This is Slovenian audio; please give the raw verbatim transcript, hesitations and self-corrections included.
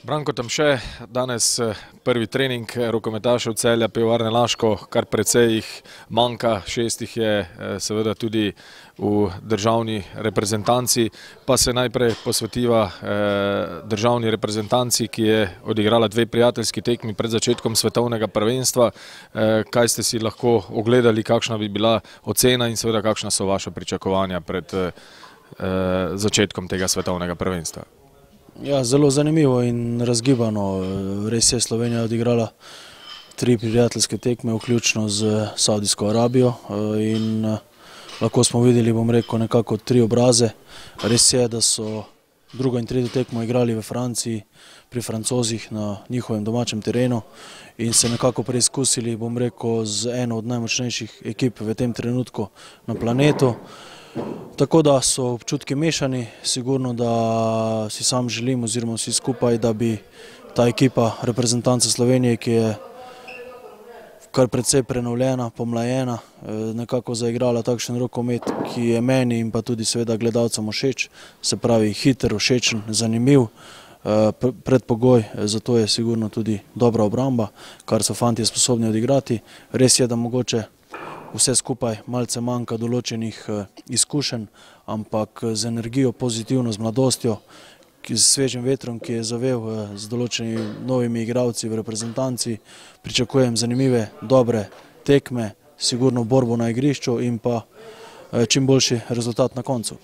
Branko Tamše, danes prvi trening rokometašev Celja Pivovarne Laško, kar precej jih manjka, šest jih je seveda tudi v državni reprezentanci, pa se najprej posvetiva državni reprezentanci, ki je odigrala dve prijateljski tekmi pred začetkom svetovnega prvenstva. Kaj ste si lahko ogledali, kakšna bi bila ocena in seveda kakšna so vaša pričakovanja pred začetkom tega svetovnega prvenstva? Ja, zelo zanimivo in razgibano. Res je Slovenija odigrala tri prijateljske tekme, vključno z Saudijsko Arabijo, in lahko smo videli, bom rekel, nekako tri obraze. Res je, da so drugo in tretjo tekmo igrali v Franciji, pri Francozih na njihovem domačem terenu in se nekako preizkusili, bom rekel, z eno od najmočnejših ekip v tem trenutku na planetu. Tako da so občutki mešani, sigurno, da si sam želim oziroma vsi skupaj, da bi ta ekipa reprezentanca Slovenije, ki je kar precej prenovljena, pomlajena, nekako zaigrala takšen rokomet, ki je meni in pa tudi seveda gledalcem všeč, se pravi hiter, všečen, zanimiv. Predpogoj za to je sigurno tudi dobra obramba, kar so fantje sposobni odigrati. Res je, da mogoče vse skupaj malce manjka določenih izkušenj, ampak z energijo, pozitivno, z mladostjo, z svežim vetrom, ki je zavel z določenimi novimi igralci v reprezentanci, pričakujem zanimive, dobre tekme, sigurno borbo na igrišču in pa čim boljši rezultat na koncu.